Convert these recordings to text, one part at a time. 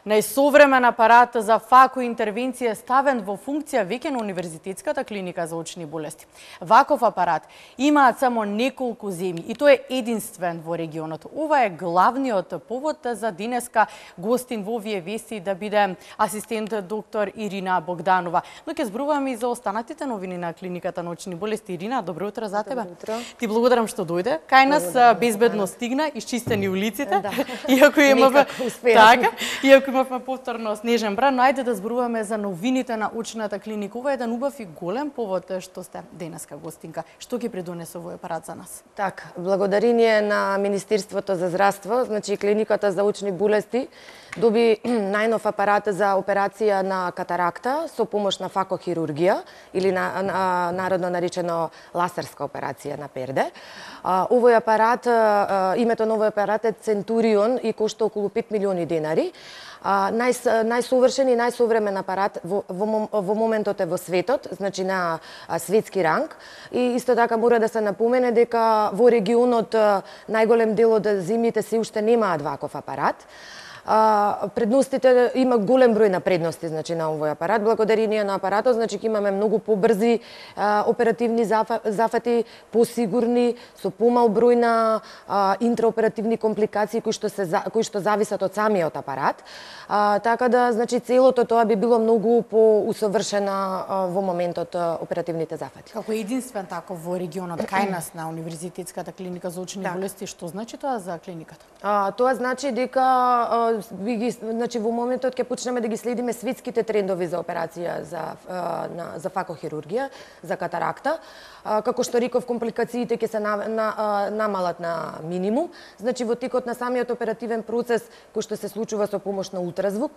Најсовремен апарат за фако интервенција ставен во функција веќе на Универзитетската клиника за очни болести. Ваков апарат имаат само неколку земји и тој е единствен во регионот. Ова е главниот повод за денеска гостин во овие вести да биде асистент доктор Ирина Богданова. Но ќе зборуваме и за останатите новини на клиниката на очни болести. Ирина, добро утро за тебе. Добро утро. Ти благодарам што дојде. Кај нас безбедно стигна, исчистени улиците. Да. Иако имаме така, иако имавме повторно снежен бран, но ајде да зборуваме за новините на очната клиника. Ова е еден убав и голем повод што сте денеска гостинка. Што ќе придонесе овој апарат за нас? Така, благодарение на Министерството за здравство, значи клиниката за очни болести доби најнов апарат за операција на катаракта со помош на факохирургија или народно наречено ласерска операција на перде. Овој апарат, името на овој апарат е Центурион и кошта околу 5 милиони денари. Најсовршен и најсовремен апарат во моментот е во светот, значи на светски ранг. И исто така мора да се напомене дека во регионот најголем дел од земјите се уште немаат ваков апарат. Предностите има голем број на предности, значи на овој апарат. Благодарение на апаратот, значи ќе имаме многу побрзи оперативни зафати, посигурни, со помал број на интраоперативни компликации кои што зависат од самиот апарат. Така да, значи целото тоа би било многу поусовршена во моментот оперативните зафати. Како единствен таков во регионот кај нас на Универзитетската клиника за очни болести, што значи тоа за клиниката? Тоа значи дека значи во моментот ќе почнеме да ги следиме светските трендови за операција за факохирургија, за катаракта. Како што реков, компликациите ќе се намалат на минимум. Значи во текот на самиот оперативен процес кој што се случува со помош на ултразвук,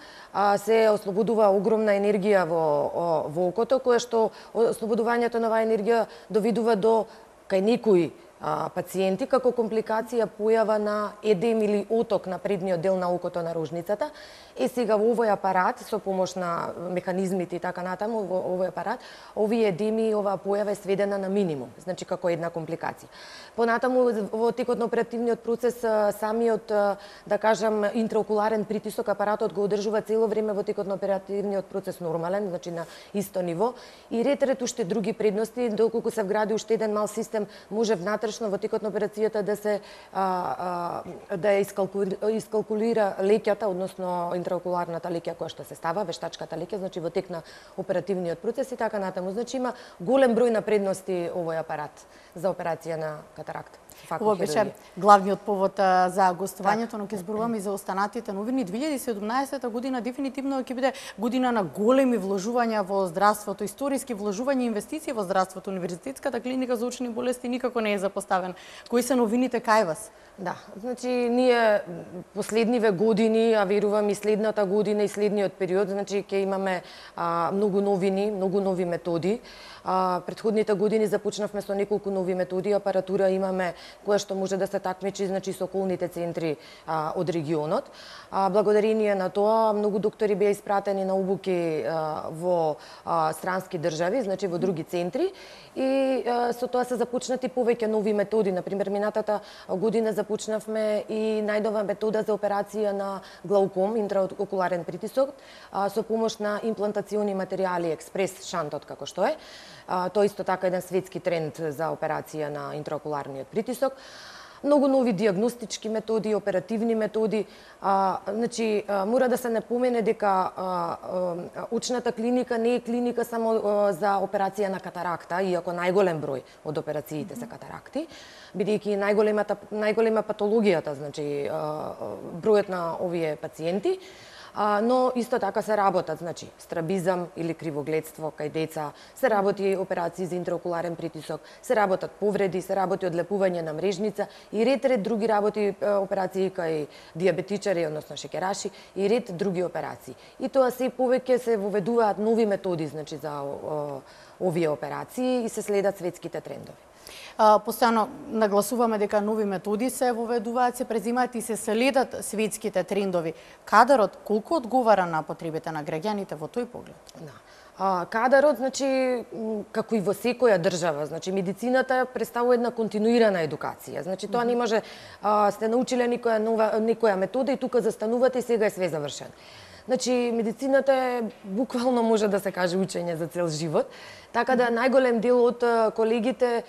се ослободува огромна енергија во окото, која што ослободувањето на оваа енергија доведува до кај некои пациенти како компликација појава на едем или оток на предниот дел на окото на рожницата. Сега во овој апарат, со помош на механизмите и така натаму, во овој апарат, овие едеми и оваа појава е сведена на минимум, значи како една компликација. Понатаму, во текот на оперативниот процес, самиот, да кажам, интраокуларен притисок, апаратот го одржува цело време во текот на оперативниот процес нормален, значи на исто ниво. И ред уште други предности, доколку се вгради уште еден мал систем, може внатрешно во текот на операцијата да се искалкулира леќата, односно интраокуларната леќа која што се става, вештачката леќа, значи во тек на оперативниот процес и така натаму. Значи има голем број на предности овој апарат за операција на катаракта. Ова беше главниот повод за гостувањето, но ќе зборуваме и за останатите новини. 2017 година дефинитивно ќе биде година на големи вложувања во здравството, историски вложувања и инвестиции во здравството. Универзитетската клиника за очни болести никако не е запоставен. Кои се новините кај вас? Да, значи ние последниве години, а верувам и следната година и следниот период, значи ќе имаме многу новини, многу нови методи. Претходните години започнавме со неколку нови методи, апаратура имаме која што може да се такмичи, значи со околните центри од регионот. Благодарение на тоа многу доктори беа испратени на обуки во странски држави, значи во други центри, и со тоа се започнати повеќе нови методи. Например, минатата година започнавме и најнова метода за операција на глауком, интраокуларен притисок, со помош на имплантациони материјали, експрес шантот како што е. Тоа исто така еден светски тренд за операција на интраокуларниот притисок. Многу нови диагностички методи, оперативни методи. Значи, мора да се напомене дека очната клиника не е клиника само за операција на катаракта, иако најголем број од операциите се катаракти, бидејќи најголема патологијата, значи бројот на овие пациенти. Но исто така се работат, значи, страбизам или кривогледство кај деца, се работи операции за интраокуларен притисок, се работат повреди, се работи одлепување на мрежница и ред други работи, операции кај диабетичари, односно шеќераши и ред други операции. И тоа се повеќе се воведуваат нови методи, значи, за овие операции и се следат светските трендови. Постојано нагласуваме дека нови методи се воведуваат, се презимаат и се следат светските трендови. Кадарот колку одговара на потребите на граѓаните во тој поглед? Да. Кадарот, значи, како и во секоја држава, значи, медицината представува една континуирана едукација. Значи, тоа не може, сте научиле некоја метода и тука застанувате и сега е све завршено. Значи, медицината е буквално може да се каже учење за цел живот. Така да најголем дел од колегите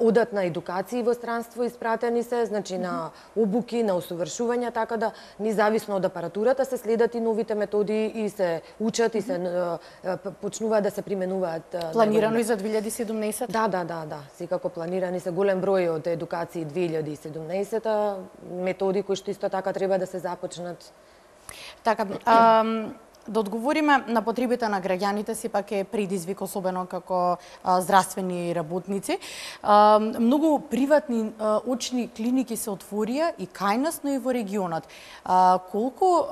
одат на едукации во странство, испратени се, значи на обуки, на усовршувања, така да независно од апаратурата се следат и новите методи и се учат и се почнуваат да се применуваат. Планирано и за 2017? Да. Секако планирани се голем број од едукации 2017 методи кои што исто така треба да се започнат. Така, да одговориме на потребите на граѓаните, сепак е предизвик, особено како здравствени работници. Многу приватни очни клиники се отворија и кај нас, но и во регионот. Колку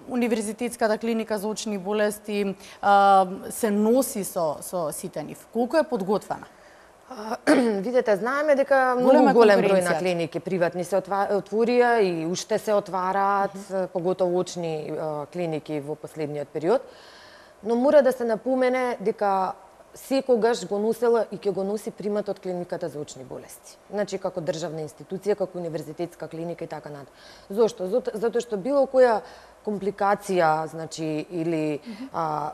Универзитетската клиника за очни болести се носи со сите нив? Колку е подготвена? Видете, знаеме дека многу голем број на клиники приватни се отворија и уште се отвараат, поготово очни клиники во последниот период. Но мора да се напомене дека секогаш го носела и ќе го носи примат од клиниката за очни болести. Значи, како државна институција, како универзитетска клиника и така натаму. Зошто? Затоа што било која компликација, значи, или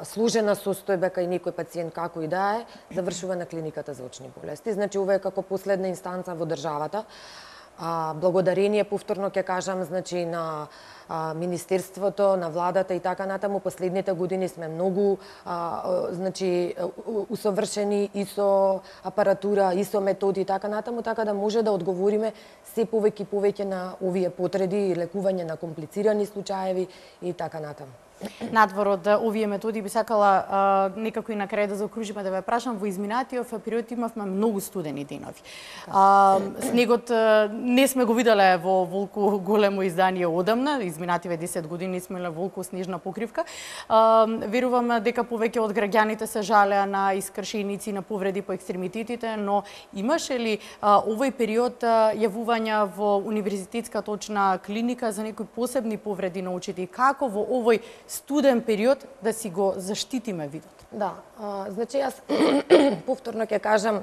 сложена состојба кај некој пациент како и да е, завршува на клиниката за очни болести. Значи, ова е како последна инстанца во државата. Благодарение, повторно ќе кажам, значи, на Министерството, на владата и така натаму, последните години сме многу значи усовршени и со апаратура, и со методи и така натаму, така да може да одговориме се повеќе и повеќе на овие потреби и лекување на комплицирани случаеви и така натаму. Надвор од овие методи би сакала некако и на крај да заокружиме, да ве прашам, во изминатиот период имавме многу студени денови. Снегот не сме го виделе во волку големо издание одамна, изминативе 10 години сме имале волку снежна покривка. Верувам дека повеќе од граѓаните се жалеа на искршеници, на повреди по екстремитетите, но имаше ли овој период јавувања во Универзитетската очна клиника за некои посебни повреди на очите и како во овој студен период да си го заштитиме видот? Да, значи јас повторно ќе кажам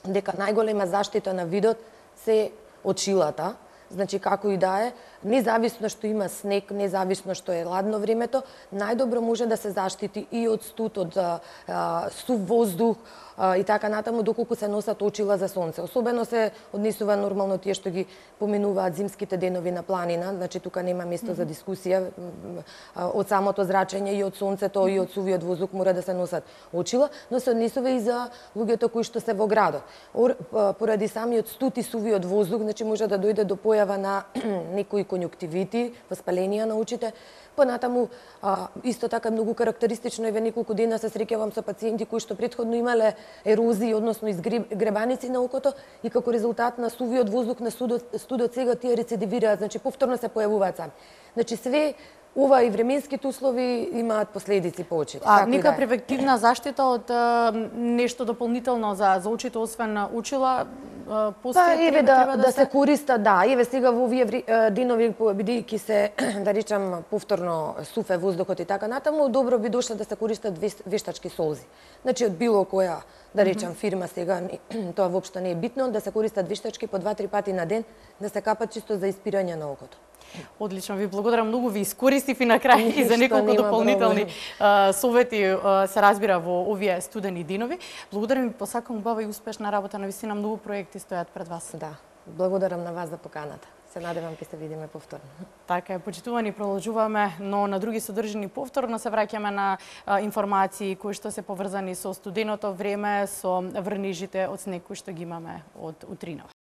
дека најголема заштита на видот се очилата. Значи, како и да е, независно што има снег, независно што е ладно времето, најдобро може да се заштити и од студ, од сув воздух и така натаму, доколку се носат очила за сонце. Особено се однесува нормално тие што ги поминуваат зимските денови на планина, значи тука нема место за дискусија. Од самото зрачење и од сонцето и од сувиот воздух мора да се носат очила, но се однесува и за луѓето кои што се во градот. Поради самиот студ и сувиот воздух, значи може да дојде до појава на некои конјуктивити, воспаленија на очите. Понатаму, исто така многу карактеристично е, ве неколку дена се среќавам со пациенти кои што претходно имале ерозии, односно изгребаници на окото и како резултат на сувиот воздух на студот сега тие рецидивираат, значи повторно се појавуваат сами. Значи све ова и временските услови имаат последици по очите. Нека превентивна заштита од нешто дополнително за очите, освен очила, постои? Еве да се користат, да, еве сега во овие денови, бидејќи се, да речам, повторно суфе воздухот и така натаму, добро би дошло да се користат вештачки солзи. Значи, од било која, да речам, фирма сега, тоа воопшто не е битно, да се користат вештачки по 2-3 пати на ден, да се капат чисто за испирање на окото. Одлично, ви благодарам многу, ви искористив и на крај и за неколку дополнителни совети се разбира во овие студени денови. Благодарам и посакам убава и успешна работа, навистина многу проекти стојат пред вас. Да, благодарам на вас за поканата. Се надевам ќе се видиме повторно. Така е, почитувани, продолжуваме, но на други содржини повторно се враќаме на информации кои што се поврзани со студеното време, со врнежите од снег кои што ги имаме од утринава.